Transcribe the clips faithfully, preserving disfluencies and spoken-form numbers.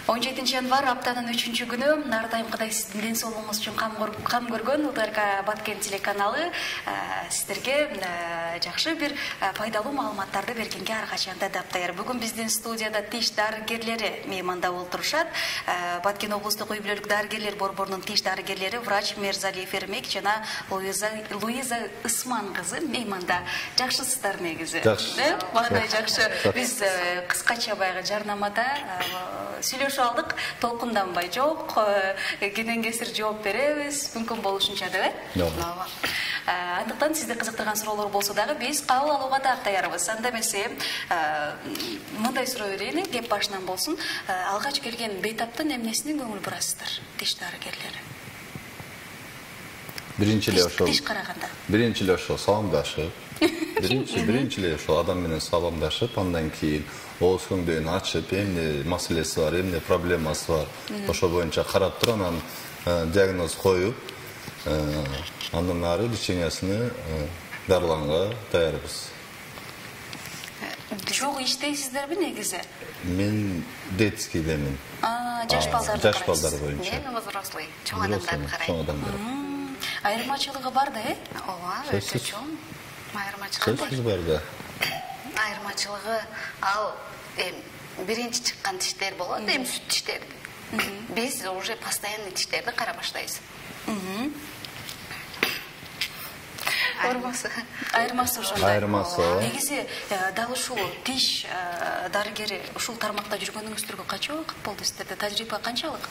он жетинчи январь аптанын үчүнчү күнү ар дайым Кудай сиздин ден соолугуңуз үчүн кам көргөн УТРК Баткен телеканалы сиздерге жакшы бир пайдалуу маалыматтарды бергенге ар качан да даптаяр. Бүгүн биздин студияда тиш дарыгерлери мейманда олтурушат. Баткен облустук үй бүлөлүк дарыгерлер борборунун тиш дарыгерлери врач Мерзалиев Эрмек жана Луиза Ысман кызы мейманда. Жакшысыздар негизи. Жакшы. Бандай жакшы. Биз кыскача баягы жарнамада сүйлөшүп алдык, толкунданбай жок, кенен кесир жооп беребиз, мүмкүн болушунча деп, э? Ооба. Андыктан сизди кызыктырган суроолор болсо дагы биз кабыл алууга даярбыз. Анда эмесе, мындай суроо берейин, кеп башынан болсун. Алгач келген бейтаптын эмнесине көңүл бурасыздар, тиш дарыгерлери? Биринчи эле ошол. Тиш караганда. Биринчи эле ошол саламдашып. Биринчи биринчи эле ошол адам менен саламдашып, андан кийин ооз көңдөйүн ачып, эмне маселеси бар, эмне проблемасы бар, ошо боюнча карап туруп, анан диагноз коюп, андан ары лечениясыны дарыланга даярбыз. Чогуу иштейсиздерби негизи? Мен детскийдемин. Жаш балдарды Жаш балдар боюнча. Мен взрослый, чоң адамдарды карайм. Чоң адамдар. Айырмачылыгы бар да, э? Ооба, өтө чоң. Айырмачылыгы бар. Сөзсүз бар да. Айырмачылыгы ал биринчи чыккан тиштер болот, эми сүт тиштер. Биз уже постоянный тиштерди кара баштайбыз. Айырмасы. Айырмасы ошондой. Айырмасы. Негизи дал ушул тиш дарыгери ушул тармакта жүргөнүңүздөргө канча убакыт болду сиздерде? Тажрыйба канчалык?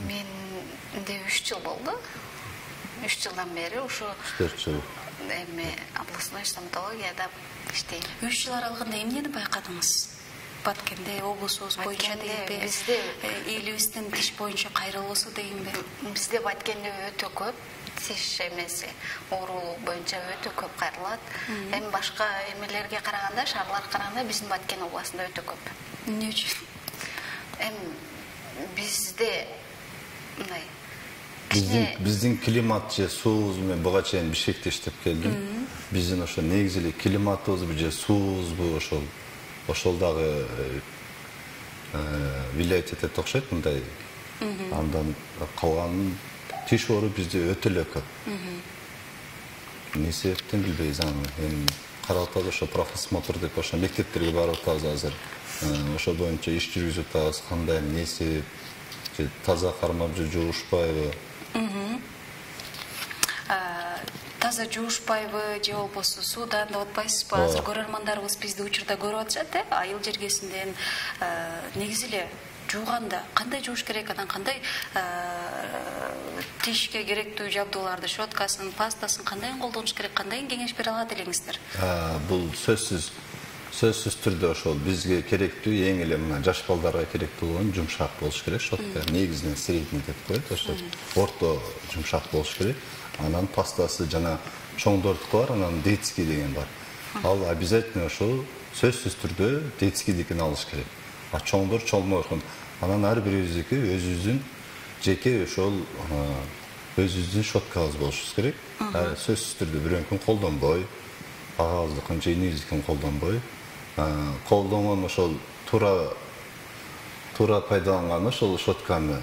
Менде үч жыл болду. үч жылдан бери ушу төрт жыл. Эми областной стоматологияда иштейм. үч жыл аралыгында эмнени байкадыңыз? Баткенде, облусубуз боюнча дейинби? Бизде элибиздин тиш боюнча кайрылуусу дейинби? Бизде Баткенде өтө көп тиш эмеси, оорулук боюнча өтө көп кайрылат. Эми башка эмелерге караганда, шаарларга караганда биздин Баткен областында өтө көп. Эмне үчүн? Эми бизде мындай Биздин биздин климат же суубуз мен буга чейин Бишкекте иштеп келдим. Биздин ошо негизи эле климатыбызбы же суубузбу ошол ошол дагы влиять этет окшойт мындай. Андан калган тиш оору бизде өтө эле көп. Эмне себептен билбейбиз аны. Эми карап атабыз ошо профосмотр деп ошо мектептерге барып атабыз азыр. Ошо боюнча иш жүргүзүп атабыз, кандай эмне себеп, же таза кармап же жуушпайбы. Таза жуушпайбы же болбосо суудан деп атпайсызбы? Азыр көрөрмандарыбыз бизди учурда көрүп атышат, э? Айыл жергесинден негизи эле жууганда кандай жууш керек, анан кандай тишке керектүү жабдууларды, щеткасын, пастасын кандай колдонуш керек, кандай кеңеш бере алат элеңиздер? Бул сөзсүз сөзсүз түрдө ошол бизге керектүү эң эле мына жаш балдарга керектүү болгон жумшак болуш керек, щетка. Негизинен средний деп коет, ошо орто жумшак болуш керек. Анан пастасы жана чоңдордуку бар, анан детский деген бар. Ал обязательно ошо сөзсүз түрдө детскийдикин алыш керек. А чоңдор чоңдордун. Анан ар бирибиздики өзүбүздүн жеке ошол өзүбүздүн щеткабыз болуш керек. Сөзсүз түрдө бирөөнкүн колдонбой, агаздыкын же инибиздикин колдонбой, колдонгон ошол туура туура пайдаланган ошол щетканы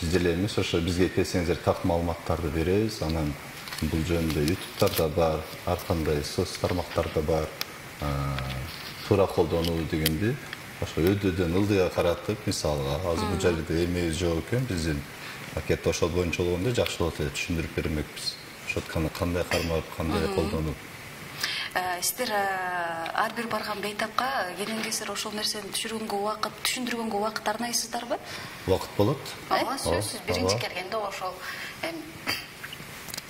биз деле эмес, ошо бизге келсеңиздер так маалыматтарды беребиз. Анан бул жөнүндө ютубтарда бар, ар кандай соц тармактарда бар. Туура колдонуу дегенди ошо өйдөдөн ылдыйга каратып, мисалга азыр бул жерде эмебиз жок экен, биздин пакет ошол боюнча болгондо жакшы болот эле түшүндүрүп бермекпиз. Щетканы кандай кармап, кандай колдонуп. Сиздер ар бир барган бейтапка кенен кесир ошол нерсени түшүргөнгө убакыт, түшүндүргөнгө убакыт арнайсыздарбы? Убакыт болот. Ооба, сөзсүз биринчи келгенде ошол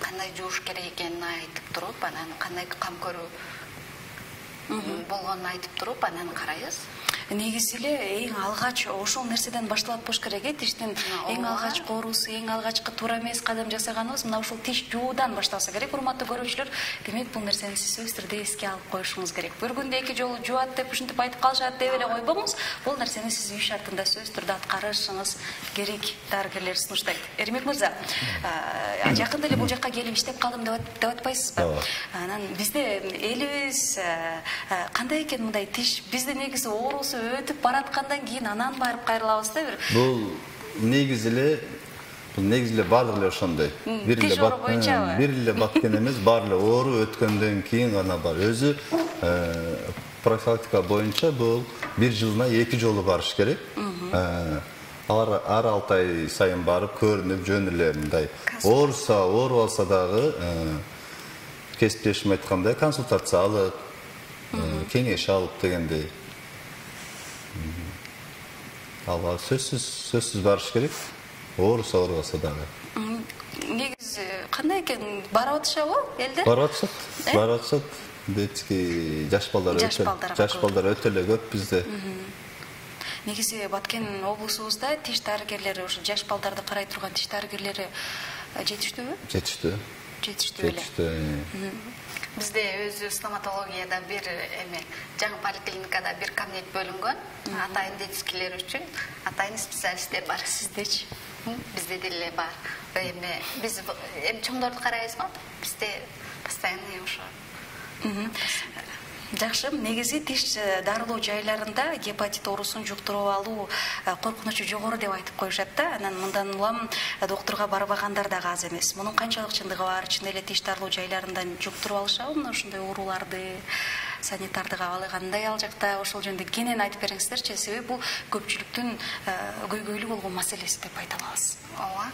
кандай жууш керек экенин айтып туруп, анан кандай кам көрүү болгонун айтып туруп, анан карайбыз. Негизи эле эң алгач ошол нерседен башталат болуш керек, э? Тиштин эң алгачкы оорусу, эң алгачкы туура эмес кадам жасаганыбыз мына ошол тиш жуудан башталса керек. Урматтуу көрүүчүлөр, демек бул нерсени сиз өз түрдө эске алып коюшуңуз керек. Бир күндө эки жолу жуат деп ушинтип айтып калышат деп эле койбоңуз. Бул нерсени сиз үй шартында сөз түрдө аткарышыңыз керек, дарыгерлер сунуштайт. Эрмек мырза, жакында эле бул жакка келип иштеп калдым деп атпайсызбы? Анан бизде элибиз кандай экен мындай тиш? Бизде негизи оорусу болбосо өтүп бараткандан кийин анан барып кайрылабыз да бир. Бул негизи эле бул негизи эле баардык эле ошондой. Бир эле бат бир эле баткен эмес, баары эле оору өткөндөн кийин гана бар. Өзү профилактика боюнча бул бир жылына эки жолу барыш керек. Ар ар алты ай сайын барып көрүнүп жөн эле мындай ооруса, оору алса дагы кесиптешим айткандай консультация алып, кеңеш алып дегендей. Алга сөзсүз сөзсүз барыш керек. Ооруса, оорубаса дагы. Негизи кандай экен, барып атышабы элде? Барып атышат. Барып атышат. Детский жаш балдар өтө жаш балдар өтө эле көп бизде. Негизи Баткен облусубузда тиш дарыгерлери, ошо жаш балдарды карай турган тиш дарыгерлери жетиштүүбү? Жетиштүү. Жетиштүү эле. Жетиштүү. Бизде өзү стоматологияда бир эме жаңы поликлиникада бир кабинет бөлүнгөн. Атайын детскийлер үчүн атайын специалисттер бар. Сиздечи? Бизде деле бар. Эме биз эми чоңдорду карайбызбы? Бизде постоянный ошо. Жакшы, негизи тиш дарылоо жайларында гепатит оорусун жуктуруп алуу коркунучу жогору деп айтып коюшат да. Анан мындан улам доктурга барбагандар дагы аз эмес. Мунун канчалык чындыгы бар? Чын эле тиш дарылоо жайларында жуктуруп алышабы мына ушундай ооруларды? Санитардык абалы кандай ал жакта? Ошол жөнүндө кенен айтып бериңиздерчи, себеби бул көпчүлүктүн көйгөйлүү болгон маселеси деп айта алабыз. Ооба.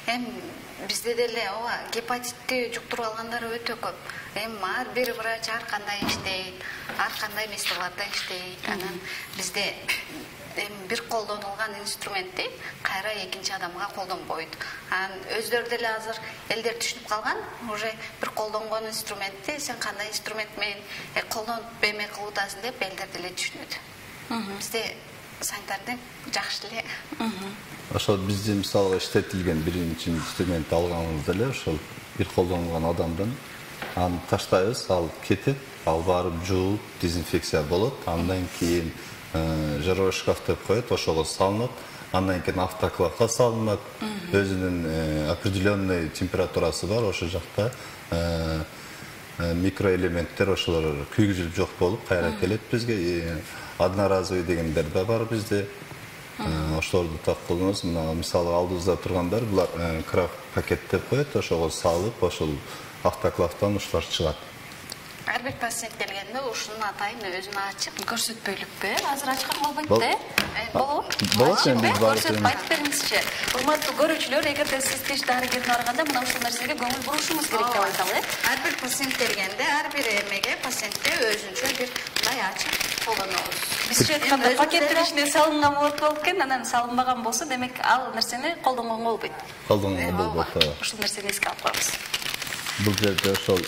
Эми бизде деле ооба гепатитти жуктуруп алгандар өтө көп. Эми ар бир врач ар кандай иштейт, ар кандай местоларда иштейт. Анан бизде эми бир колдонулган инструментти кайра экинчи адамга колдонбойт. Анан өздөрү деле азыр элдер түшүнүп калган, уже бир колдонгон инструментти сен кандай инструмент менен колдонуп эме кылып атасың деп элдер деле түшүнөт. Бизде санитардык жакшы эле. Ошол бизде мисалга иштетилген биринчи инструмент алганыбызда эле ошол бир колдонгон адамдан аны таштайбыз, ал кетет, ал барып жууп, дезинфекция болот. Андан кийин жароо шкаф деп коет, ошого салынат. Андан кийин автоклавга салынат. Өзүнүн определенный температурасы бар, ошол жакта микроэлементтер ошолор күйгүзүлүп жок болуп кайра келет бизге. Одноразовый дегендер да бар бизде. Ошолорду так колдонобуз. Мына мисалы алдыбызда тургандар булар крафт пакет деп коет, ошого салып, ошол автоклавтан ушулар чыгат. Ар бир пациент келгенде ушунун атайын өзүн ачык көрсөтпөйлүкпү? Азыр ачкан болбойт да? Болобу? Болот эми биз барып көрсөтүп айтып бериңизчи. Урматтуу көрүүчүлөр, эгерде сиз тиш дарыгерине барганда мына ушул нерсеге көңүл бурушуңуз керек деп айталы. Ар бир пациент келгенде, ар бир эмеге пациентке өзүнчө бир мындай ачык колдонобуз. Бизче айтканда пакеттин ичине салынган болот болуп экен, анан салынбаган болсо, демек ал нерсени колдонгонго болбойт. Колдонгонго болбойт. Ушул нерсени эске алып коебуз. Бул жерде ошол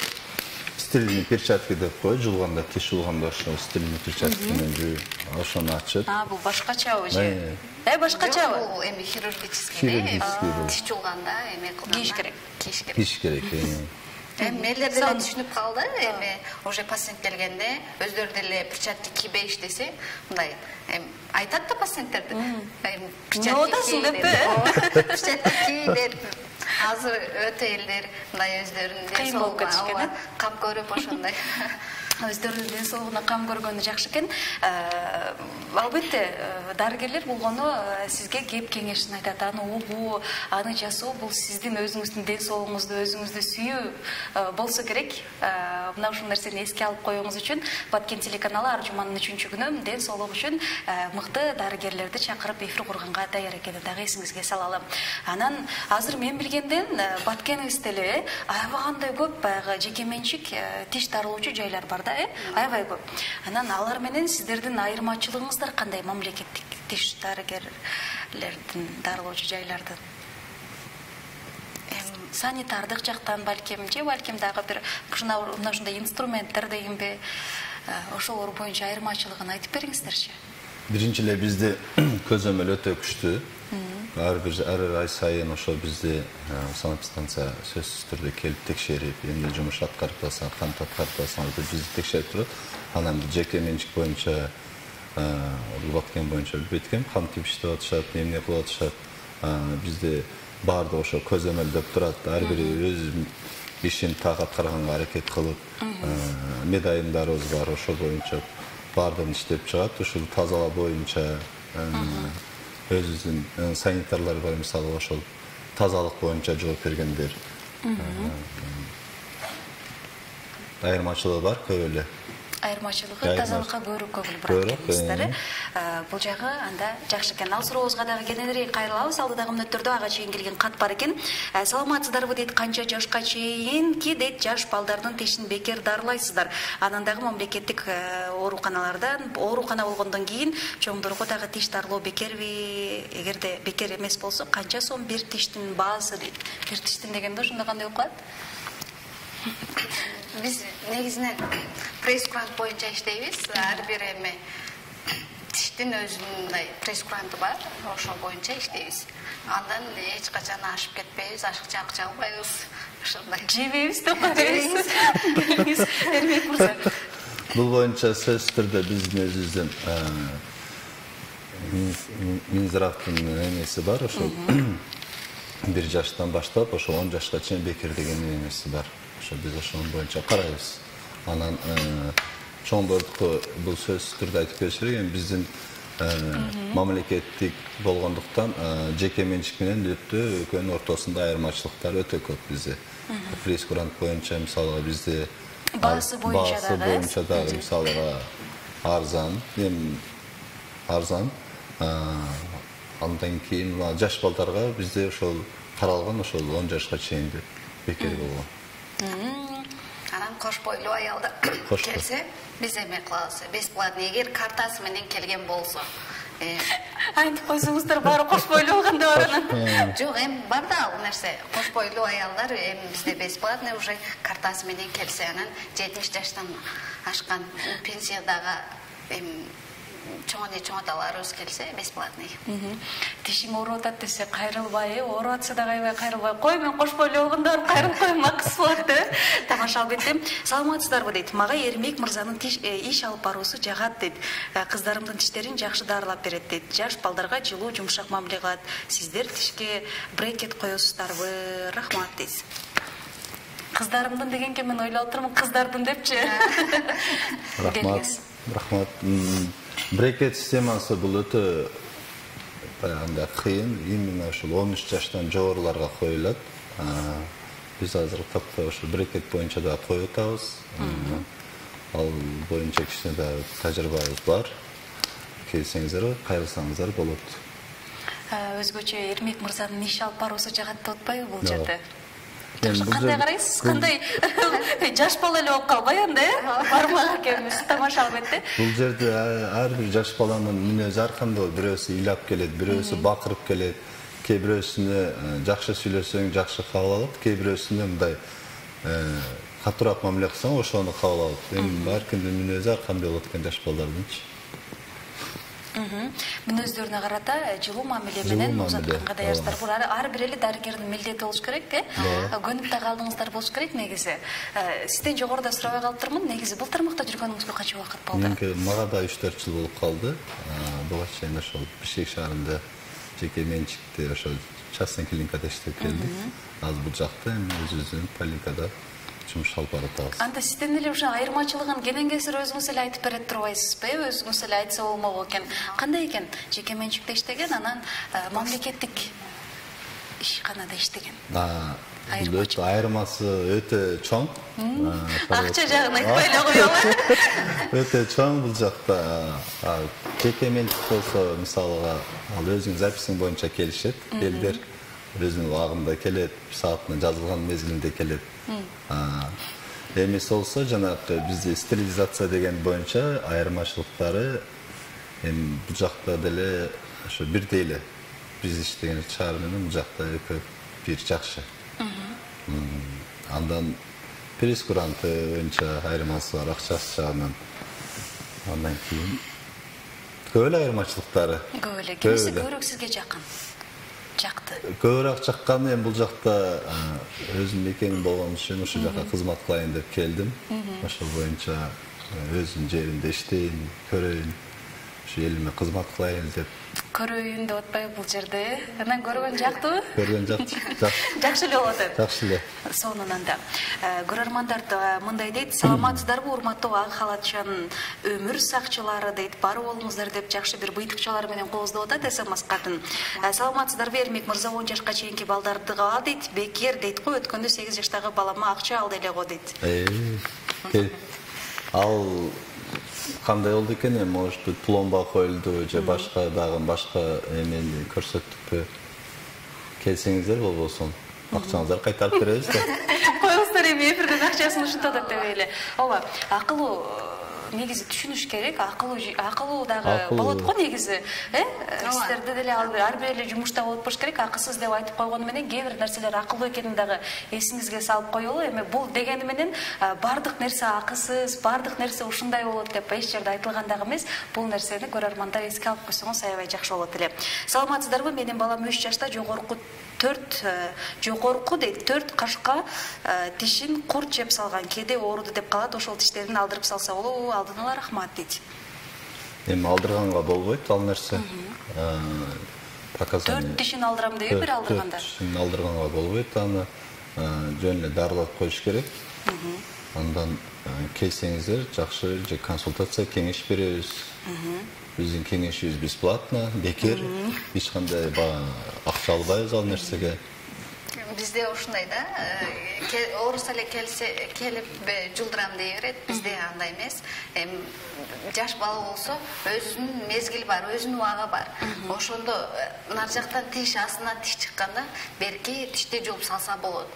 стерильный перчатки деп коет, жуулганда, тиш жуулганда ошол стерильный перчатки менен жууп, ошону ачып. А, бул башкачабы же? Э, башкачабы? Бул эми хирургический, тиш жуулганда эме кылганда кийиш керек. Кийиш керек. Кийиш керек. Эми элдер деле түшүнүп калды, эми уже пациент келгенде өздөрү деле перчатки кийбейиш десе, мындай эми айтат да пациенттерди. Эми перчатки кий деп. Перчатки кий деп. Азыр өтө элдер мындай өздөрүнүн ден соолугуна кам көрүп ошондой өздөрүнүн ден соолугуна кам көргөнү жакшы экен. Албетте дарыгерлер болгону сизге кеп кеңешин айтат, аны угуу, аны жасоо бул сиздин өзүңүздүн ден соолугуңузду, өзүңүздү сүйүү болсо керек. Мына ушул нерсени эске алып коюңуз үчүн Баткен телеканалы ар жуманын үчүнчү күнү ден соолук үчүн мыкты дарыгерлерди чакырып эфир курганга даяр экенин дагы эсиңизге салалы. Анан азыр мен билгенден Баткенибизде эле аябагандай көп баягы жеке менчик тиш дарылоочу жайлар бар да, э? Аябай көп. Анан алар менен сиздердин айырмачылыгыңыздар кандай мамлекеттик тиш дарыгерлердин дарылоочу жайлардын? Санитардык жактан балким, же балким дагы бир мына ушундай инструменттер дегенби, ошолор боюнча айырмачылыгын айтып бериңиздерчи. Биринчи эле бизде көзөмөл өтө күчтүү. Ар бир ар ай сайын ошо бизде санэпидстанция сөзсүз түрдө келип текшерип, эмне жумуш аткарып атасың, кантип аткарып атасың деп бизди текшерип турат. Анан жеке менчик боюнча, Баткен боюнча билбейт экенмин, кантип иштеп атышат, эмне кылып атышат. Бизде баардыгы ошо көзөмөлдөп турат. Ар бири өз ишин так аткарганга аракет кылып, медайымдарыбыз бар, ошо боюнча баардан иштеп чыгат. Ушул тазалоо боюнча өзүбүздүн санитарлар бар, мисалы ошол тазалык боюнча жооп бергендер. Айырмачылыгы бар, көп эле. Айырмачылыгы тазалыкка көбүрөөк көңүл бурат экенсиздер. Бул жагы анда жакшы экен. Ал сурообузга дагы кененирээк кайрылабыз. Алдыдагы мүнөттөрдө ага чейин келген кат бар экен. Саламатсыздарбы дейт, канча жашка чейинки дейт жаш балдардын тишин бекер дарылайсыздар. Анан дагы мамлекеттик ооруканалардан, оорукана болгондон кийин чоңдорго дагы тиш дарылоо бекерби? Эгерде бекер эмес болсо, канча сом бир тиштин баасы дейт. Бир тиштин дегенде ошондо кандай болуп калат? Биз негизинен прейскурант боюнча иштейбиз. Ар бир эме тиштин өзүнүн мындай прейскуранты бар, ошол боюнча иштейбиз. Андан эч качан ашып кетпейбиз, ашыкча акча албайбыз. Ошондой жебейбиз деп коебиз. Эрмек мырза. Бул боюнча сөзсүз түрдө биздин өзүбүздүн Минздравдын эмеси бар, ошол бир жаштан баштап ошо он жашка чейин бекер деген эмеси бар. Biz ошонун боюнча карайбыз. Анан чоңдордуку бул сөзсүз түрдө айтып бериш керек. Эми биздин мамлекеттик болгондуктан жеке менчик менен өтө экөөнүн ортосунда айырмачылыктар өтө көп бизде. Прейскурант боюнча мисалга бизде баасы боюнча дагы мисалга арзан, эми арзан. Андан кийин жаш балдарга бизде ошол каралган, ошол он жашка чейин бекер болгон. Анан кош бойлуу аялдар келсе, биз эме кылабыз, бесплатный, эгер картасы менен келген болсо. Айтып койсоңуздар, баары кош бойлуу болгондо бар анан. Жок, эми бар да ал нерсе. Кош бойлуу аялдар эми бизде бесплатный уже картасы менен келсе, анан жетимиш жаштан ашкан пенсиядагы эми чоңоне чоңоталарыбыз келсе бесплатный. Тишиң ооруп атат десе кайрылбай, ооруп атса да кайбай кайрылбай, кой мен кош бойлуу болгондо барып кайрылып коем, максыз болот деп. Тамаша албетте. Саламатсыздарбы дейт. Мага Эрмек мырзанын иш алып баруусу жагат дейт. Кыздарымдын тиштерин жакшы дарылап берет дейт. Жаш балдарга жылуу, жумшак мамиле кылат. Сиздер тишке брекет коесуздарбы? Рахмат дейсиз. Кыздарымдын дегенге мен ойлоп отурмун, кыздардын депчи. Рахмат. Рахмат. Брекет системасы бул өтө андай кыйын, именно ошол он үч жаштан жогоруларга коюлат. Биз азыр тапта ошол брекет боюнча да коюп атабыз. Ал боюнча кичине да тажрыйбабыз бар. Келсеңиздер, кайрылсаңыздар болот. Өзгөчө Эрмек мырзанын иш алып баруусу жагат деп атпайбы бул жерде? Кандай карайсыз? Кандай жаш бала эле болуп калбай анда, э? Бармак экенбиз, тамаша албетте. Бул жерде ар бир жаш баланын мүнөзү ар кандай болот. Бирөөсү ыйлап келет, бирөөсү бакырып келет, кээ бирөөсүнө жакшы сүйлөсөң жакшы кабыл алат, кээ бирөөсүнө мындай катуураак мамиле кылсаң ошону кабыл алат. Эми ар кимдин мүнөзү ар кандай болот экен жаш балдардынчы. Мүнөздөрүнө карата жылуу мамиле менен узатканга даярсыздар. Бул ар бир эле дарыгердин милдети болуш керек, э? Көнүп да калдыңыздар болуш керек негизи. Сизден жогоруда сурабай калыптырмын, негизи бул тармакта жүргөнүңүзгө канча убакыт болду? Мага да үч төрт жыл болуп калды. Буга чейин ошол Бишкек шаарында жеке менчикте ошол частный клиникада иштеп келдим. Азыр бул жакта эми өзүбүздүн поликлиникада жумуш алып баратабыз. Анда сизден эле ошо айырмачылыгын кенен кесир өзүңүз эле айтып берет турбайсызбы? Өзүңүз эле айтса болмок экен. Кандай экен? Жеке менчикте иштеген, анан мамлекеттик ишканада иштеген. Айырмасы өтө чоң. Акча жагын айтпай эле коелу. Өтө чоң бул жакта. Жеке менчик болсо, мисалга, ал өзүнүн записиң боюнча келишет, элдер өзүнүн убагында келет, саатына жазылган мезгилинде келет. Эмес болсо, жанагы бизде стерилизация деген боюнча айырмачылыктары эми бул жакта деле ошо бирдей эле. Биз иштеген шаар менен бул жакта экөө бир жакшы. Андан прейскуранты боюнча айырмасы бар, акчасы жагынан. Андан кийин көп эле айырмачылыктары. Көп эле. Кимиси көбүрөөк сизге жакын? Жакты. Көбүрөөк жаккан эми бул жакта өзүм мекеним болгон үчүн ошол жака кызмат кылайын деп келдим. Ошол боюнча өзүм жеримде иштейин, көрөйүн, ошо элиме кызмат кылайын деп көрөйүн деп атпайбы бул жерде? Анан көргөн жактыбы? Көргөн жакшы. Жакшы эле болот. Жакшы эле. Сонунан да көрөрмандар мындай дейт: саламатсыздарбы урматтуу Ак халатчанын өмүр сакчылары дейт. Бар болуңуздар деп жакшы бир быйтыкчалар менен кооздоп атат СМС катын. Саламатсыздарбы Эрмек мырза, он жашка чейинки балдардыга дейт, бекер дейт го, өткөндө сегиз жаштагы балама акча алды эле го дейт. Э. Ал кандай болду экен, может быть, пломба коюлду же башка дагы башка эмени көрсөттүкпү? Келсеңиздер болбосун акчаңыздарды кайтарып беребиз да. Коюңуздар, эми эфирден акчасын ушинтип атат деп эле. Ооба, акылуу негизи түшүнүш керек, акылуу акылуу дагы болот го негизи. Э? Сиздерде деле ар бир эле жумушта болуп болуш керек. Акысыз деп айтып койгону менен кээ бир нерселер акылуу экенин дагы эсиңизге салып коелу. Эми бул дегени менен бардык нерсе акысыз, бардык нерсе ушундай болот деп эч жерде айтылган дагы эмес. Бул нерсени көрөрмандар эске алып койсоңуз аябай жакшы болот эле. Саламатсыздарбы? Менин балам үч жашта, жогорку төрт жогорку дейт, төрт кашка тишин курт жеп салган. Кээде ооруду деп калат. Ошол тиштерин алдырып салса болобу? Алдын ала рахмат дейт. Эми алдырганга болбойт ал нерсе. Показания. Төрт тишин алдырам дейби бир алдырганда. Тишин алдырганга болбойт, аны жөн эле дарылап коюш керек. Андан келсеңиздер жакшы же консультация, кеңеш беребиз. Биздин кеңешибиз бесплатно, бекер, эч кандай акча албайбыз ал нерсеге. Бизде ушундай да, ооруса эле келсе келип жулдурам дей берет. Бизде андай эмес. Эми жаш бала болсо өзүнүн мезгили бар, өзүнүн убагы бар. Ошондо нар жактан тиш, астынан тиш чыкканда берки тишти жууп салса болот.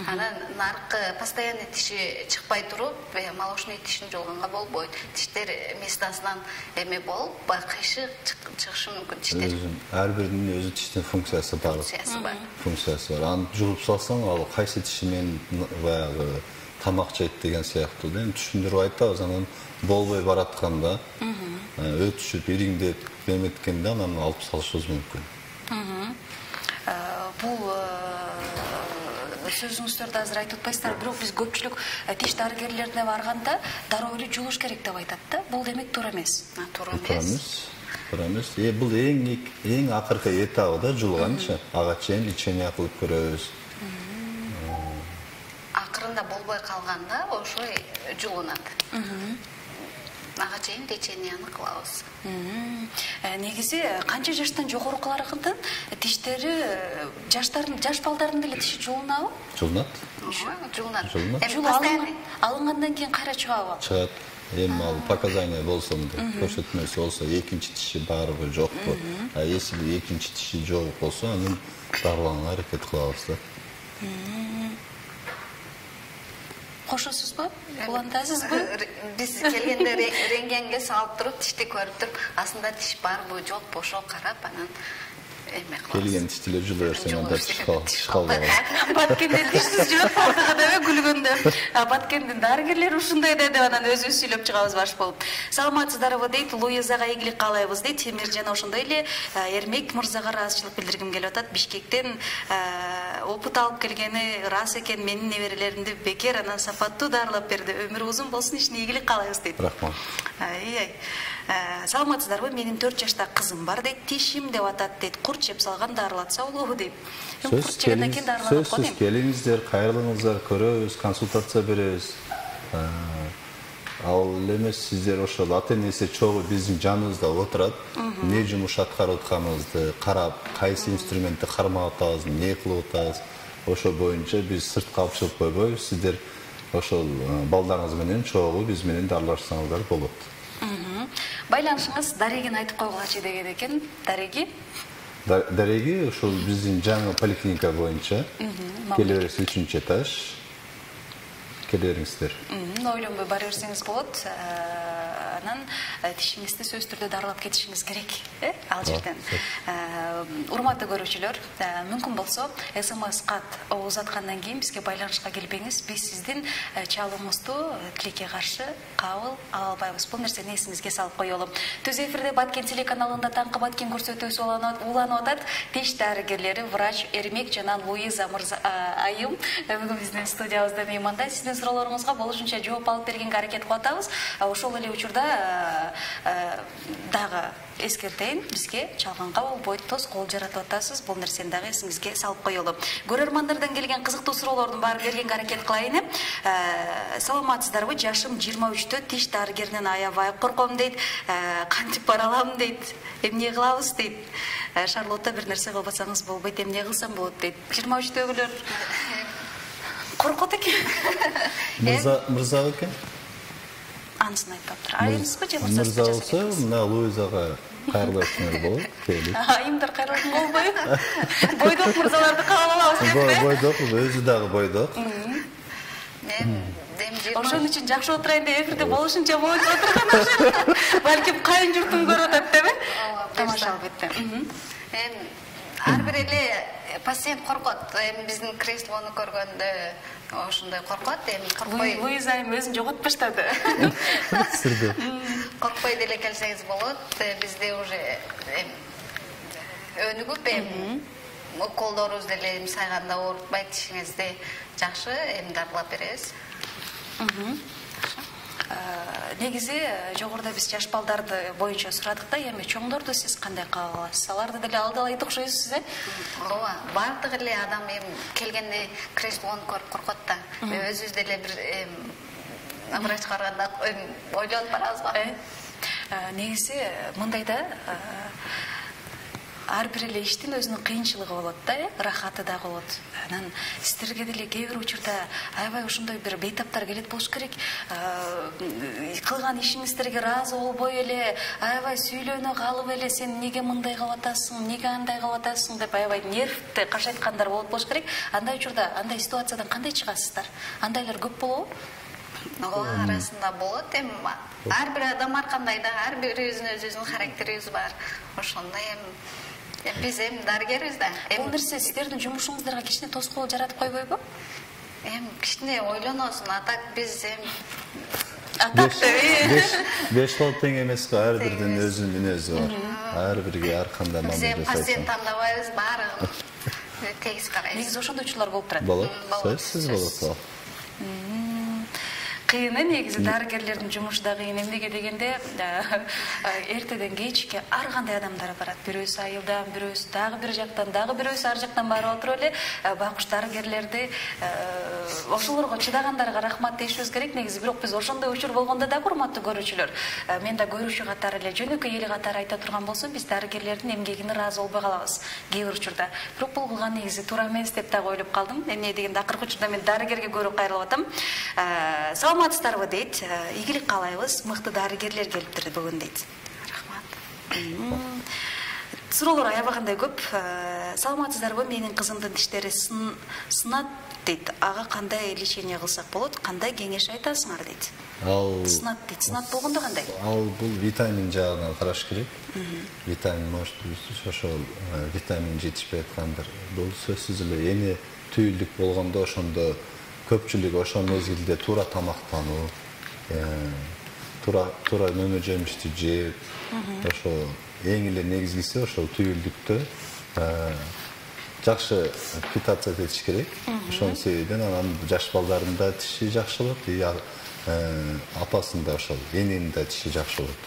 Анан наркы постоянный тиши чыкпай туруп, молочный тишин жуулганга болбойт. Тиштер местасынан эме болуп, кыйшык чыгышы мүмкүн тиштер. Ар биринин өзү тиштин функциясы бар. Функциясы бар. Функциясы бар. Аны жууп салсаң, ал кайсы тиши менен баягы тамак жейт деген сыяктуу да. Түшүндүрүп айтабыз, анан болбой баратканда, өтүшүп, ириңдеп, эметкенде анан алып салышыбыз мүмкүн. Бул сөзүңүздөрдү азыр айтып атпайсыздар, бирок биз көпчүлүк тиш дарыгерлерине барганда дароо эле жуулуш керек деп айтат да. Бул демек туура эмес. Туура эмес. Туура эмес. Э, бул эң эң акыркы этабы да жуулганчы. Ага чейин лечение кылып көрөбүз. Акырында болбой калганда ошо жуулунат. Ага чейин леченияны кылабыз. Негизи канча жаштан жогорукулардын тиштери жаштардын жаш балдардын деле тиши жуулунабы? Жуулунат. Жуулунат. Жуулунат. Алынгандан кийин кайра чыгабы? Чыгат. Эми ал показания болсо, көрсөтмөсү болсо, экинчи тиши барбы, жокпу. А если экинчи тиши жок болсо, анын дарыланганга аракет кылабыз да. Кошосузбу? Улантасызбы? Биз келгенде рентгенге салып туруп, тишти көрүп туруп, астында тиш барбы, жокпу, ошо карап, анан эме кылабыз. Келген тиштелер жулуп берсең, анда тиш калбайт. Баткенде тишсиз жүрөт калдыгы деп күлгөндө. Баткендин дарыгерлери ушундай да деп анан өзүбүз сүйлөп чыгабыз баш болуп. Саламатсыздарбы дейт, Луизага ийгилик каалайбыз дейт. Темир жана ошондой эле Эрмек мырзага ыраазычылык билдиргим келип атат. Бишкектен опыт алып келгени рас экен, менин неберелеримди бекер анан сапаттуу дарылап берди. Өмүрү узун болсун, ишине ийгилик каалайбыз дейт. Рахмат. Ай-ай. Саламатсыздарбы? Менин төрт жашта кызым бар дейт. Тишим деп атат дейт. Курт жеп салган дарылатса болобу дейт. Курт жегенден кийин дарыланат го дейм. Келиңиздер, кайрылыңыздар, көрөбүз, консультация беребиз. Ал эмес сиздер ошол ата-энеси чогуу биздин жаныбызда отурат. Не жумуш аткарып атканыбызды карап, кайсы инструментти кармап атабыз, эмне кылып атабыз. Ошол боюнча биз сыртка алып чыгып койбойбуз. Сиздер ошол балдарыңыз менен чогуу биз менен дарылашсаңыздар болот. Байланышыңыз Дарегин айтып койгулачы деген экен. Дареги? Дареги ошол биздин жаңы поликлиника боюнча келе бересиз, үчүнчү этаж. Келе бериңиздер. Ойлонбой бара берсеңиз болот. Анан тишиңизди сөзсүз түрдө дарылап кетишиңиз керек, э? Ал жерден. Урматтуу көрүүчүлөр, мүмкүн болсо СМС кат узаткандан кийин бизге байланышка келбеңиз. Биз сиздин чалууңузду тилекке каршы кабыл ала албайбыз. Бул нерсени эсиңизге салып коелу. Түз эфирде Баткен телеканалында таңкы Баткен көрсөтүүсү уланып атат. Тиш дарыгерлери врач Эрмек жана Луиза мырза айым бүгүн биздин студиябызда мейманда. Сиздин суроолоруңузга болушунча жооп алып бергенге аракет кылып атабыз. Ошол эле учурда дагы эскертейин, бизге чалганга болбойт, тоскоол жаратып атасыз. Бул нерсени дагы эсиңизге салып коелу. Көрөрмандардан келген кызыктуу суроолордун баарын бергенге аракет кылайын. Саламатсыздарбы? Жашым жыйырма үчтө, тиш дарыгеринен аябай корком дейт. Кантип бара алам дейт. Эмне кылабыз дейт. Шарлотта бир нерсе кылбасаңыз болбойт, эмне кылсам болот дейт. жыйырма үчтөгүлөр коркот экен. Мырза, мырза экен? Анысын айтпаптыр. Айымызбы же мырза? Мырза болсо, мына Луизага кайрылып өтсөңөр болот. Келип. Айымдар кайрылып болбойбу? Бойдок мырзаларды кабыл алабыз деппи? Бойдок, өзү дагы бойдок. Ошон үчүн жакшы отурайын деп эфирде болушунча боюнча отурган. Балким кайын журтум көрүп атат депи? Тамаша албетте. Эми ар бир эле пациент коркот. Эми биздин креслону көргөндө ошондой коркот. Эми коркпой. Луиза эми өзүн жоготуп баштады. Сирди. Коркпой деле келсеңиз болот. Бизде уже өнүгүп эми уколдорубуз деле эми сайганда оорутпайт, тишиңизди жакшы эми дарылап беребиз. Негизи жогоруда биз жаш балдарды боюнча сурадык да, эми чоңдорду сиз кандай кабыл аласыз? Аларды деле алдалайт окшойсуз, э? Ооба, баардык эле адам эми келгенде креслону көрүп коркот да. Өзүбүз деле бир врачка барганда ойлонуп барабыз го. Негизи мындай да, ар бир эле иштин өзүнүн кыйынчылыгы болот да, рахаты да болот. Анан сиздерге деле кээ бир учурда аябай ошондой бир бейтаптар келет болуш керек. Кылган ишиңиздерге ыраазы болбой эле, аябай сүйлөнө калып эле, сен эмнеге мындай кылып атасың, эмнеге андай кылып атасың деп аябай нервти кашайткандар болот болуш керек. Андай учурда, андай ситуациядан кандай чыгасыздар? Андайлар көп болобу? Ооба, арасында болот. Эми ар бир адам ар кандай да, ар бирибиздин өзүбүздүн характерибиз бар. Ошондой эми биз эми дарыгербиз да. Бул нерсе сиздердин жумушуңуздарга кичине тоскоол жаратып койбойбу? Эми кичине ойлоносуң, атак биз эми атак беш кол тең эмес го, ар бирдин өзүнүн мүнөзү бар. Ар бирге ар кандай мамиле жасайсың. Биз пациент тандабайбыз, баарын тегиз карайбыз. Негизи ошондой учурлар болуп турат. Болот, сөзсүз болот. Кыйын, негизи дарыгерлердин жумушу да кыйын. Эмнеге дегенде, эртеден кечке ар кандай адамдар барат. Бирөөсү айылдан, бирөөсү дагы бир жактан, дагы бирөөсү ар жактан барып отуруп эле байкуш дарыгерлерди ошолорго чыдагандарга рахмат дешибиз керек. Негизи бирок биз ошондой учур болгондо да, урматтуу көрүүчүлөр, мен да көрүүчү катары эле, жөнөкөй эл катары айта турган болсом, биз дарыгерлердин эмгегине ыраазы болбой калабыз кээ бир учурда. Бирок бул кылган негизи туура эмес деп дагы ойлоп калдым. Эмне дегенде акыркы учурда мен дарыгерге көбүрөөк кайрылып атам. Саламатсыздарбы дейт, ийгилик каалайбыз, мыкты дарыгерлер келиптир бүгүн дейт. Рахмат. Суроолор аябагандай көп. Саламатсыздарбы, менин кызымдын диштери сынат дейт. Ага кандай лечение кылсак болот, кандай кеңеш айтасыңар дейт. Ал сынат дейт. Сынат болгондо кандай? Ал бул витамин жагынан караш керек. Витамин может ошол витамин жетишпей аткандыр. Бул сөзсүз эле эне түйүлдүк болгондо ошондо көпчүлүк ошол мезгилде туура тамактануу, туура туура мөмө жемишти жеп, ошо эң эле негизгиси ошол түйүлдүктө жакшы питаться этиш керек. Ошонун себебинен анан жаш балдардын да тиши жакшы болот, апасынын да ошол эненин да тиши жакшы болот.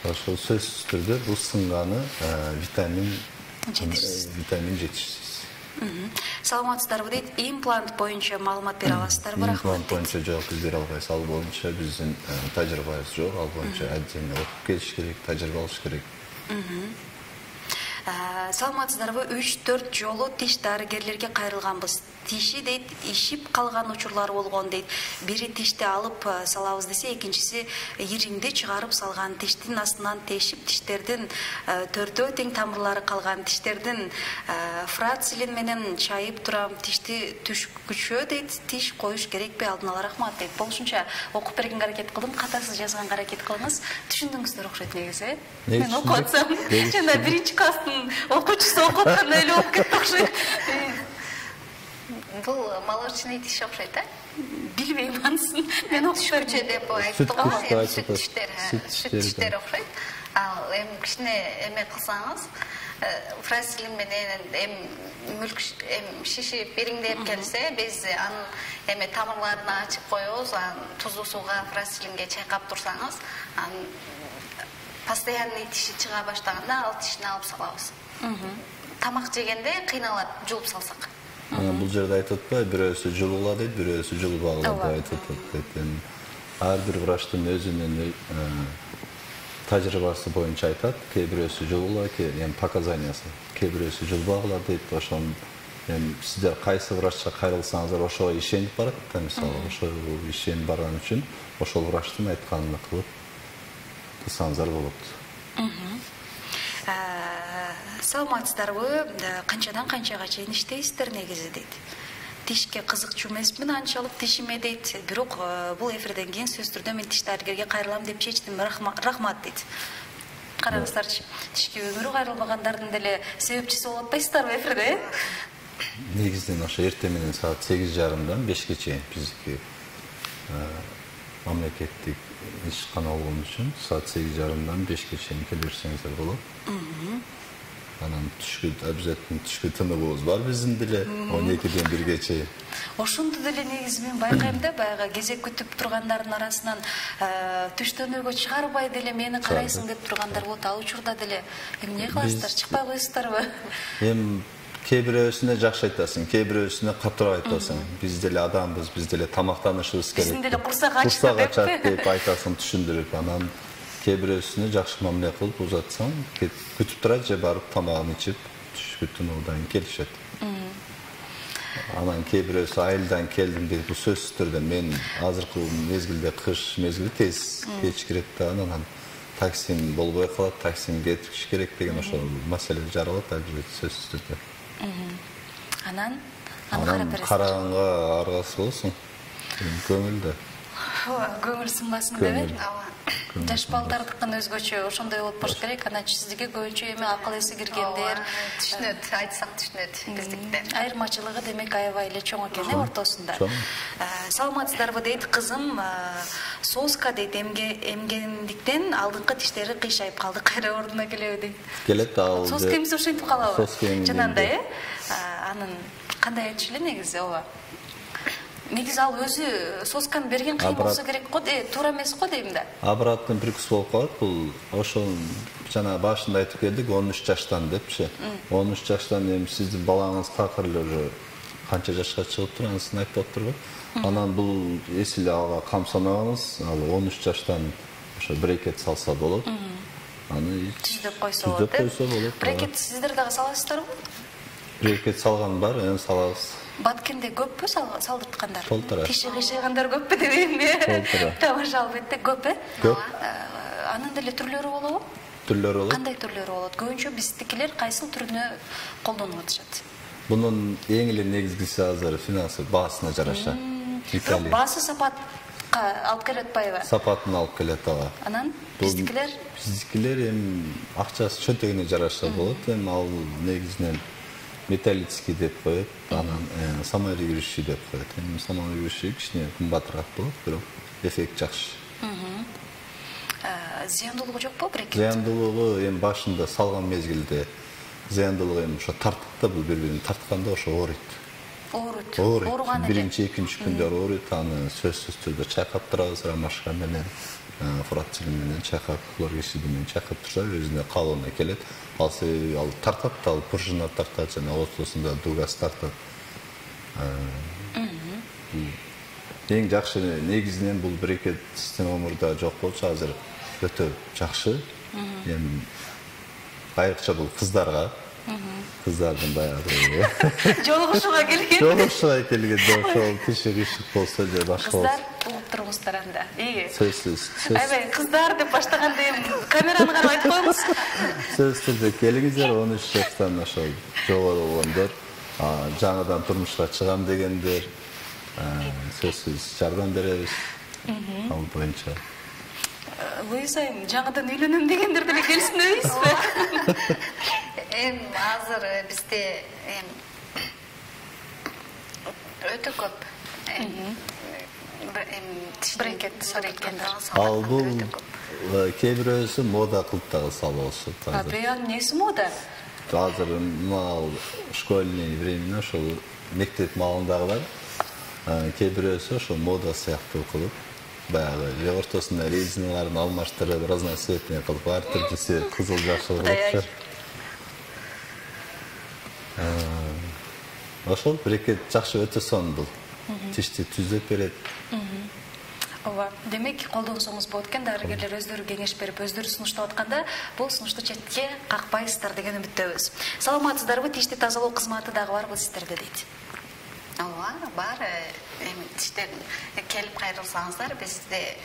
Ошол сөзсүз түрдө бул сынганы витамин витамин жетишсиз. Саламатсыздарбы дейт, имплант боюнча маалымат бере аласыздарбы? Рахмат. Имплант боюнча жок, биз бере албайбыз. Ал боюнча биздин тажрыйбабыз жок. Ал боюнча отдельно окуп келиш керек, тажрыйба алыш керек. Саламатсыздарбы, үч төрт жолу тиш дарыгерлерге кайрылганбыз. Тиши дейт, ишип калган учурлар болгон дейт. Бири тишти алып салабыз десе, экинчиси ириңди чыгарып салган, тиштин астынан тешип, тиштердин төртөө тең тамырлары калган, тиштердин фрацилин менен чайып турам, тишти түшкүчө дейт, тиш коюш керекпи, алдын ала рахмат дейт. Болушунча окуп бергенге аракет кылдым, катасыз жазганга аракет кылыңыз. Түшүндүңүздөр окшойт негизи, э? Мен окуп атсам, жана биринчи класстын окуучусу окуп аткандай эле болуп кетти окшойт. Бул молочный тиш окшойт, да? Билбейм анысын. Мен окуп түшкүчө деп айтты го, эми сүт тиштер, сүт тиштер окшойт. Ал эми кичине эме кылсаңыз, фразелин менен эм мүлк эм шишип бириңдеп келсе, биз анын эме тамырларын ачып коебуз, анан тузу сууга фразелинге чайкап турсаңыз, анын постоянный тиши чыга баштаганда ал тишини алып салабыз. Тамак жегенде кыйналат жулуп салсак. Бул жерде айтып атпайбы, бирөөсү жулула дейт, бирөөсү жулубагыла деп айтып атат. Ар бир врачтын өзүнүн тажрыйбасы боюнча айтат, кээ бирөөсү жулула, эми показаниясы, кээ бирөөсү жулбагыла дейт. Ошон эми сиздер кайсы врачка кайрылсаңыздар ошого ишенип барат да, мисалы, ошо ишенип барган үчүн ошол врачтын айтканын кылып кылсаңыздар болот. Саламатсыздарбы? Канчадан канчага чейин иштейсиздер негизи дейт. Тишке кызыкчу эмесмин анчалык тишиме дейт. Бирок бул эфирден кийин сөзсүз түрдө мен тиш дарыгерге кайрылам деп чечтим. Рахмат дейт. Караңыздарчы, тишке өмүрү кайрылбагандардын деле себепчиси болуп атпайсыздарбы эфирде? Негизинен ошо эртең менен саат сегиз жарымдан бешке чейин биздики мамлекеттик ишкана болгон үчүн саат сегиз жарымдан бешке чейин келе берсеңиздер болот. Анан түшкү обязательно түшкү тыныгыбыз бар биздин деле он экиден бирге чейин. Ошондо деле негизи мен байкайм да, баягы кезек күтүп тургандардын арасынан түштөнүүгө чыгарбай деле мени карайсың деп тургандар болот. Ал учурда деле эмне кыласыздар, чыкпай коесуздарбы? Эми кээ бирөөсүнө жакшы айтасың, кээ бирөөсүнө катуу айтасың. Биз деле адамбыз, биз деле тамактанышыбыз керек. Биздин деле курсак ачат деп айтасың, түшүндүрүп, анан кээ бирөөсүнө жакшы мамиле кылып узатсаң, күтүп турат же барып тамагын ичип, түшкү тынуудан келишет. Анан кээ бирөөсү айылдан келдим дейт, бул сөзсүз түрдө мен азыркы мезгилде кыш мезгили тез кеч кирет да, анан таксим болбой калат, таксим кетиш керек деген ошол маселе жаралат албетте сөзсүз түрдө. Анан анан караганга аргасы болсун. Көңүлдө. Көңүл сынбасын деп. Жаш балдардыкын өзгөчө ошондой болуп болуш керек. Анан сиздики көбүнчө эми акыл эси киргендер, түшүнөт, айтсак түшүнөт биздикте. Айырмачылыгы демек аябай эле чоң экен э ортосунда. Саламатсыздарбы дейт кызым, соска дейт, эмгендиктен алдыңкы тиштери кыйшайып калды, кайра ордуна келеби дейт. Келет ал. Соска эмиси ошентип калабы? Жанагындай э? Анын кандай айтыш эле негизи ооба. Негизи ал өзү сосканы берген кыйын болсо керек го, туура эмес го дейм да. Обратный прикус болуп калат. Бул ошол жана башында айтып келдик он үч жаштан депчи. он үч жаштан эми сиздин балаңыз такыр эле уже канча жашка чыгыптыр, анысын айтып атпырбы? Анан бул эсил ага камсанабыз, ал он үч жаштан ошо брекет салса болот. Аны түздөп койсо болот. Түздөп койсо болот. Брекет сиздер дагы саласыздарбы? Брекет салган бар, эми салабыз. Баткенде көппү салдырткандар? Толтура. Тиши кыйшайгандар көппү дебейинби? Толтура. Тамаша албетте көп э? Көп. Анын деле түрлөрү болобу? Түрлөрү болот. Кандай түрлөрү болот? Көбүнчө биздикилер кайсыл түрүнө колдонуп атышат? Бунун эң эле негизгиси азыр финансылык баасына жараша. Бирок баасы сапатка алып келип атпайбы? Сапатын алып келет ага. Анан биздикилер? Биздикилер эми акчасы чөнтөгүнө жараша болот. Эми ал негизинен металлический деп коет, анан саморегирющий деп коет. Эми саморегирющий кичине кымбатыраак болот, бирок эффект жакшы. Зыяндуулугу жокпу брекет? Зыяндуулугу эми башында салган мезгилде зыяндуулугу эми ошо тартып да, бул бири-бирин тартканда ошо ооруйт. Ооруйт. Ооруган эле. Биринчи, экинчи күндөр ооруйт, аны сөзсүз түрдө чайкап турабыз, ромашка менен, фурацилин менен чайкап, хлоргексид менен чайкап турса, өзүнө калыбына келет. Ал ал тартат, ал пружина тартат, жана ортосунда дугас тартат. Эң жакшы негизинен бул брекет система мурда жок болчу, азыр өтө жакшы. Эми айрыкча бул кыздарга, кыздардын баягы жолугушууга келген. Жолугушууга келгенде ошол тиши кыйшык болсо же башка. Кыздар угуп тургуздар анда. Эги. Сөзсүз. Аябай кыздар деп баштаганда эми камераны карап айтып коебуз. Сөзсүз түрдө келиңиздер, он үч жаштан ошол жогору болгондор, жаңыдан турмушка чыгам дегендер, сөзсүз жардам беребиз. Ал боюнча. Луиза, жаңыдан үйлөнөм дегендер деле келсин дейсизби? Эми азыр бизде эми өтө көп. Эми брекет салгандар. Ал бул кээ бирөөсү мода кылып дагы салып атышат. А биян неси мода? азыр мал школьный времена ошол мектеп маалындагылар кээ бирөөсү ошол мода сыяктуу кылып баягы же ортосунда резиналарын алмаштырып разноцветный кылып ар түрдүүсү кызыл жашыл кылып ошол брекет жакшы өтө сонун бул тишти түзөп берет. Ооба, демек колдонсоңуз болот экен, дарыгерлер өздөрү кеңеш берип, өздөрү сунуштап атканда бул сунушту четке какпайсыздар деген үмүттөбүз. Саламатсыздарбы? Тишти тазалоо кызматы дагы барбы сиздерде дейт? Ооба, бар. Эми тиштер келип кайрылсаңыздар, бизде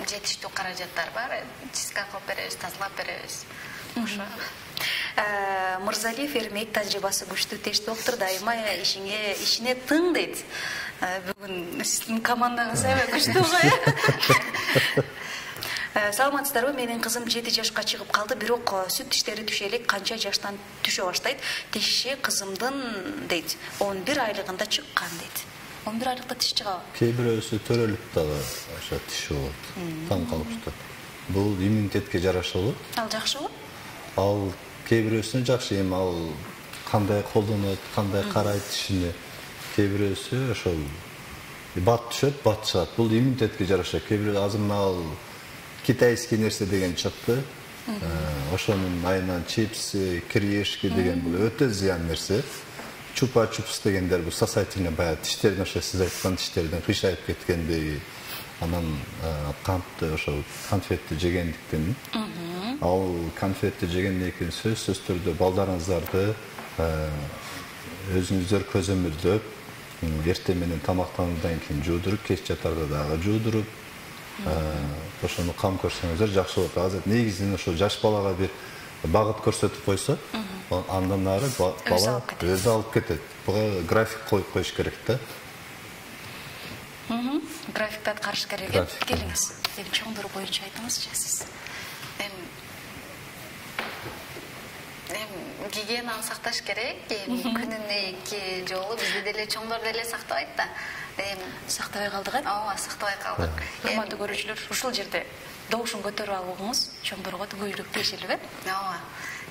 жетиштүү каражаттар бар. Тиска кылып беребиз, тазалап беребиз. Ошо. Мырзалиев Эрмек тажрыйбасы күчтүү теш доктор, дайыма ишиңе ишине тың дейт. Бүгүн сиздин командаңыз аябай күчтүү го. Саламатсыздарбы? Менин кызым жети жашка чыгып калды, бирок сүт тиштери түшө элек канча жаштан түшө баштайт? Тиши кызымдын дейт, он бир айлыгында чыккан дейт. он бир айлыкта тиш чыгабы? Кээ бирөөсү төрөлүп дагы ошо тиш болот. Таң калыптыр. Бул иммунитетке жараша болот. Ал жакшыбы? Ал кээ бирөөсүнө жакшы, эми ал кандай колдонот, кандай карайт тишине. Кээ бирөөсү ошол бат түшөт, бат чыгат. Бул иммунитетке жараша. Кээ бирөө азыр ал китайский нерсе деген чыкты. Ошонун айынан чипсы, кириешки деген бул өтө зыян нерсе. Чупа-чупс дегендер бул сосательный баягы тиштердин ошо сиз айткан тиштердин кыйшайып кеткендеги, анан кантты ошо конфетти жегендиктен. Ал конфетти жегенден кийин сөзсүз түрдө балдарыңыздарды өзүңүздөр көзөмөлдөп, эртең менен тамактануудан кийин жуудуруп, кеч жатарда дагы жуудуруп, ошону кам көрсөңүздөр жакшы болот. Азыр негизинен ошо жаш балага бир багыт көрсөтүп койсо, андан ары бала өзү алып кетет. Буга график коюп коюш керек да. Графикти аткарыш керек. Келиңиз. Эми чоңдор боюнча айтыңызчы сиз. Гигиенаны сакташ керек. Күнүнө эки жолу бизде деле чоңдор деле сактабайт да. Сактабай калдык э? Ооба, сактабай калдык. Урматтуу көрүүчүлөр, ушул жерде добушун көтөрүп алууңуз чоңдорго түгөйлүк тиешелип э? Ооба.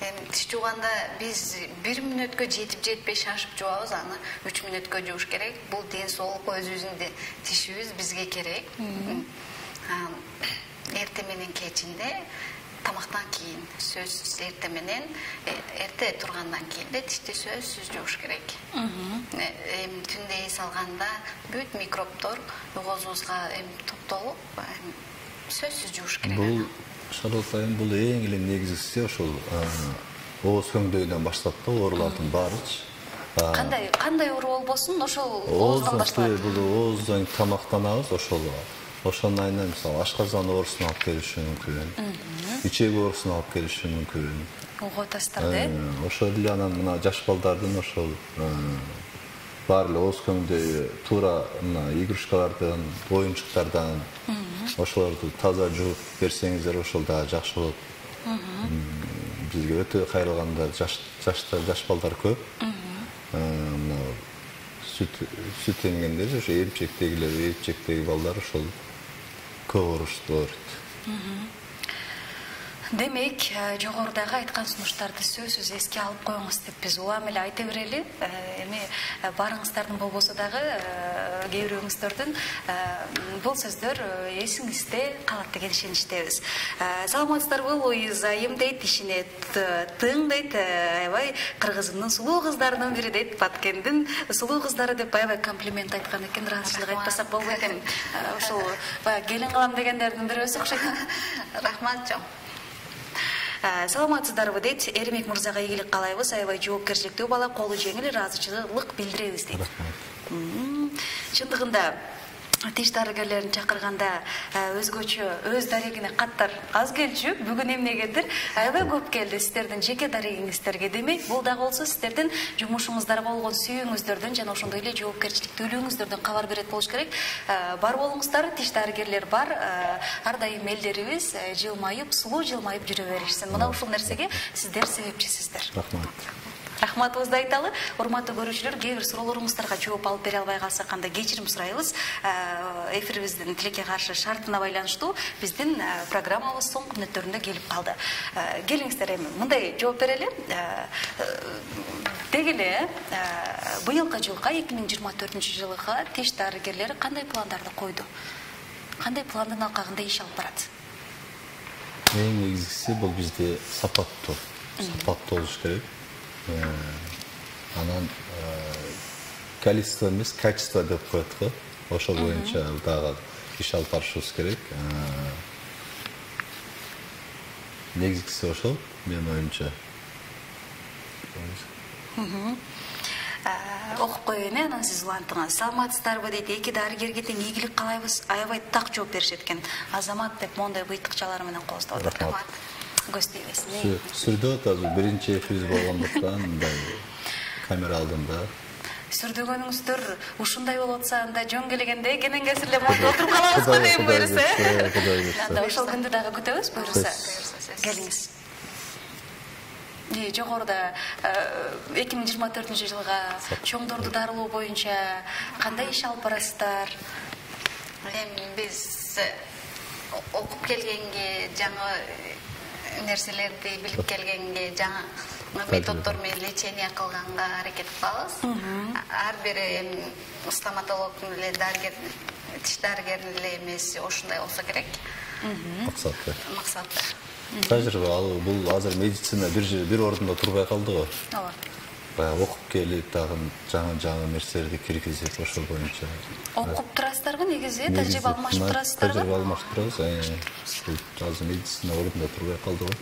Эми тиш жууганда биз бир мүнөткө жетип жетпей шашып жуабыз, аны үч мүнөткө жууш керек. Бул ден соолук, өзүбүздүн тишибиз бизге керек. Эртең менен кечинде тамактан кийин сөзсүз эртең менен эрте тургандан кийин да тишти сөзсүз жууш керек. Эми түндө эс алганда бүт микробдор оозубузга эми топтолуп сөзсүз жууш керек. Бул шароотайым бул эң эле негизгиси ошол ооз көңдөйүнөн баштап да оорулардын баарычы. Кандай кандай оору болбосун, ошол ооздан башталат. Бул ооздон тамактанабыз, ошол ошонун айынан мисалы ашказан оорусун алып келиши мүмкүн. Ичек оорусун алып келиши мүмкүн. Ого тастар да. Ошол эле анан мына жаш балдардын ошол бар эле ооз көңдөйү туура мына игрушкалардан, оюнчуктардан ошолорду таза жууп берсеңиздер ошол дагы жакшы болот. Бизге өтө кайрылганда жаш жаштар, жаш балдар көп. Мына сүт сүт эмгендер ошо эмчектегилер, эмчектеги балдар ошол көп оорушуп ооруйт. Демек, жогорудагы айткан сунуштарды сөзсүз эске алып коюңуз деп биз улам эле айта берели. Эми барыңыздардын болбосо дагы кээ бирөөңүздөрдүн бул сөздөр эсиңизде калат деген ишеничтебиз. Саламатсыздарбы? Луиза айым дейт, ишине тың дейт, аябай кыргызымдын сулуу кыздарынын бири дейт, Баткендин сулуу кыздары деп аябай комплимент айткан экен, ыраазычылык айтпасак болбойт экен. Ошол баягы келин кылам дегендердин бирөөсү окшойт. Рахмат жок. Саламатсыздарбы дейт, Эрмек мырзага ийгилик каалайбыз, аябай жоопкерчиликтүү бала, колу жеңил, ыраазычылык билдиребиз дейт. Чындыгында тиш дарыгерлерин чакырганда өзгөчө өз дарегине каттар аз келчү, бүгүн эмнегедир аябай көп келди сиздердин жеке дарегиңиздерге. Демек, бул дагы болсо сиздердин жумушуңуздарга болгон сүйүүңүздөрдөн жана ошондой эле жоопкерчиликтүүлүгүңүздөрдөн кабар берет болуш керек. Бар болуңуздар, тиш дарыгерлер бар, ар дайым элдерибиз жылмайып, сулуу жылмайып жүрө беришсин. Мына ушул нерсеге сиздер себепчисиздер. Рахмат. Рахматыбызды айталы. Урматтуу көрүүчүлөр, кээ бир суроолоруңуздарга жооп алып бере албай калсак кандай кечирим сурайбыз. Эфирибиздин тилекке каршы шартына байланыштуу биздин программабыз соңку мүнөттөрүндө келип калды. Келиңиздер, эми мындай жооп берели. Деги эле быйылкы жылга эки миң жыйырма төртүнчү жылга тиш дарыгерлери кандай пландарды койду? Кандай пландын алкагында иш алып барат? Эң негизгиси бул бизде сапаттуу, сапаттуу болуш керек. Анан количество эмес, качество деп коет го. Ошол боюнча дагы иш алып барышыбыз керек. Негизгиси ошол, менин оюмча. Окуп коеюн, анан сиз улантыңыз. Саламатсыздарбы дейт, эки дарыгерге тең ийгилик каалайбыз. Аябай так жооп беришет экен. Азамат деп мондай быйтыкчалар менен кооздоп атат. Көз тийбесин. Сүрдө атабыз, биринчи эфирибиз болгондуктан мындай камера алдында. Сүрдөгөнүңүздөр ушундай болуп атса, анда жөн келгенде кенен кесирлеп отуруп калабызбы дейм буюрса. Анда ошол күндү дагы күтөбүз буюрса. Келиңиз. Жогоруда эки миң жыйырма төртүнчү жылга чоңдорду дарылоо боюнча кандай иш алып барасыздар? Эми биз окуп келгенге, жаңы нерселерди билип келгенге, жаңы методдор менен лечение кылганга аракет кылабыз. Ар бир стоматологдун эле дарыгер, тиш дарыгеринин эле эмеси ошундай болсо керек. Максаты. Максаты. Тажрыйба алуу, бул азыр медицина бир жер бир ордунда турбай калды го. Ооба. Баягы окуп келип, дагы жаңы-жаңы нерселерди киргизип, ошол боюнча. Окуп турасыздарбы негизи? Тажрыйба алмашып турасыздарбы? Тажрыйба алмашып турабыз. Азыр медицина ордунда турбай калды го.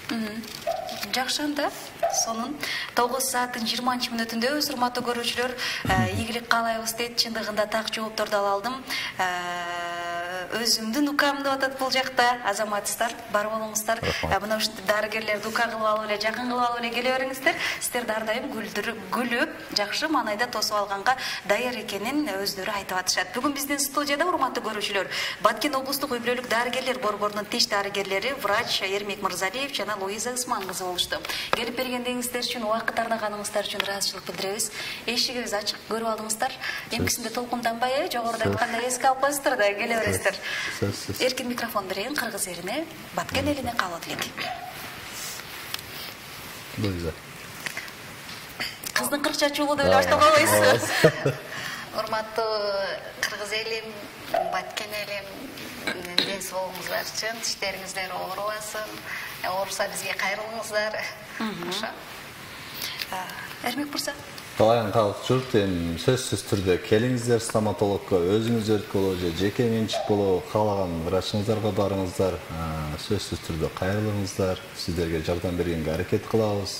Жакшы, анда сонун тогуз сааттын жыйырманчы мүнөтүндөбүз. Урматтуу көрүүчүлөр, ийгилик каалайбыз дейт. Чындыгында так жоопторду ала алдым. Өзүмдүн укам деп атат бул жакта. Азаматсыздар, бар болуңуздар. Мына ушундай дарыгерлерди ука кылып алып эле, жакын кылып алып эле келе бериңиздер. Сиздер дар дайым күлүп, жакшы маанайда тосуп алганга даяр экенин өздөрү айтып атышат. Бүгүн биздин студияда, урматтуу көрүүчүлөр, Баткен облустук үй бүлөлүк дарыгерлер борборунун тиш дарыгерлери врач Эрмек Мырзалиев жана Луиза Усман кызы болушту. Келип бергендигиңиздер үчүн, убакыт арнаганыңыздар үчүн ыраазычылык билдиребиз. Эшигибиз ачык, көрүп алдыңыздар. Эмкисинде толкунданбай, жогоруда айткандай эске алып коесуздар да келе бересиздер. Эркин микрофон берейин кыргыз элине, Баткен элине каалоо тилейт. Луиза. Кыздын кырк чачуулу деп баштап албайсызбы? Урматтуу кыргыз элим, Баткен элим, ден соолугуңуздар үчүн, тиштериңиздер оорубасын, ооруса бизге кайрылыңыздар. Ошо. Эрмек мырза. Калайын калк журт, эми сөзсүз түрдө келиңиздер стоматологко, өзүңүз өрткөлөө же жеке менчик болобу, каалаган врачыңыздарга барыңыздар, сөзсүз түрдө кайрылыңыздар, сиздерге жардам бергенге аракет кылабыз.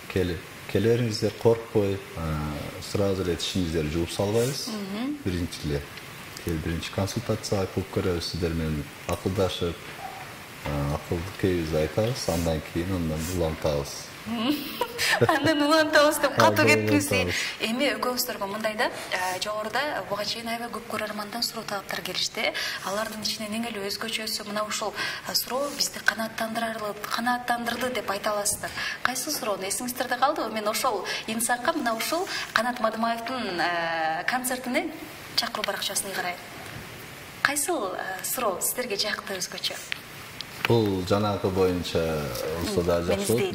Келе бериңиздер, коркпой, сразу эле тишиңиздерди жууп салбайбыз. Биринчи эле биринчи консультацияга кылып көрөбүз, сиздер менен акылдашып, акылды кебизди айтабыз, андан кийин андан улантабыз. Андан улантабыз деп катуу кетпиңиз. Эми экөөбүздөргө мындай да, жогоруда буга чейин аябай көп көрөрмандан суроо талаптар келишти. Алардын ичинен эң эле өзгөчөсү мына ушул суроо бизди канааттандырарлы, канааттандырды деп айта аласыздар. Кайсы суроону эсиңиздерде калдыбы? Мен ошол инсакка мына ушул Канат Мадымаевдин концертине чакыруу баракчасын карайм. Кайсы суроо сиздерге жакты өзгөчө? Бул жанагы боюнча болсо да жакшы болот.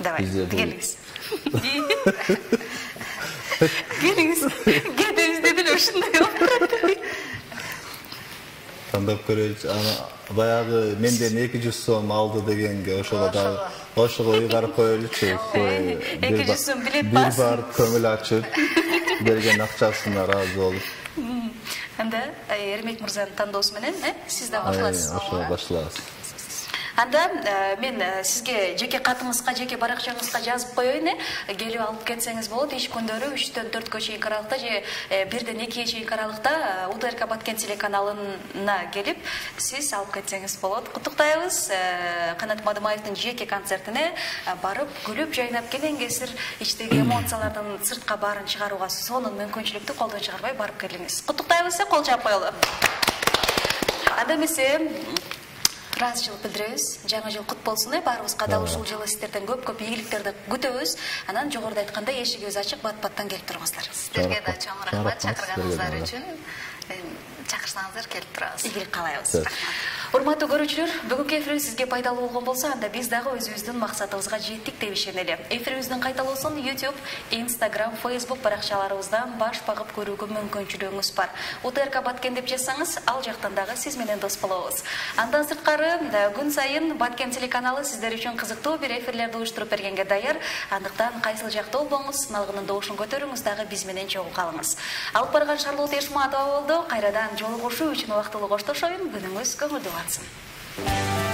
Давай, келиңиз. Келиңиз. Кетебиз деди эле ушундай болуп турат. Тандап көрөйүчү. Аны баягы менден эки жүз сом алды дегенге ошого да ошого ыйгарып коелучу. эки жүз сом билет бас. Бир бар көңүл ачып берген акчасына ыраазы болуп. Анда Эрмек мырзанын тандоосу менен, сиз да башталасыз. Ошо башталабыз. Анда мен сизге жеке катыңызга, жеке баракчаңызга жазып коеюн, келип алып кетсеңиз болот. Иш күндөрү үчтөн төрткө чейин аралыкта же бирден экиге чейин аралыкта УТРК Баткен телеканалына келип, сиз алып кетсеңиз болот. Куттуктайбыз. Канат Мадымаевдин жеке концертине барып, күлүп, жайнап келген кесир ичтеги эмоциялардын сыртка баарын чыгарууга сонун мүмкүнчүлүктү колдон чыгарбай барып келиңиз. Куттуктайбыз, кол жаап коелу. Анда эмесе ыраазычылык билдиребиз. Жаңы жыл кут болсун, э баарыбызга дал ушул жылы сиздерден көп-көп ийгиликтерди күтөбүз. Анан жогоруда айткандай эшигибиз ачык, бат-баттан келип тургуңуздар. Сиздерге да чоң рахмат чакырганыңыздар үчүн. Чакырсаңыздар келип турабыз. Ийгилик каалайбыз. Урматтуу көрүүчүлөр, бүгүнкү эфирибиз сизге пайдалуу болгон болсо, анда биз дагы өзүбүздүн максатыбызга жеттик деп ишенели. Эфирибиздин кайталоосун YouTube, Instagram, Facebook баракчаларыбыздан баш багып көрүүгө мүмкүнчүлүгүңүз бар. У Т Р К Баткен деп жазсаңыз, ал жактан дагы сиз менен дос болобуз. Андан сырткары, күн сайын Баткен телеканалы сиздер үчүн кызыктуу бир эфирлерди уюштуруп бергенге даяр. Андыктан кайсыл жакта болбоңуз, сыналгынын добушун көтөрүңүз, дагы биз менен чогуу калыңыз. Алып барган Шарлот Эшматова болду. Кайрадан жолугушуу үчүн убактылуу коштошоюн. Күнүңүз көңүлдүү батсын.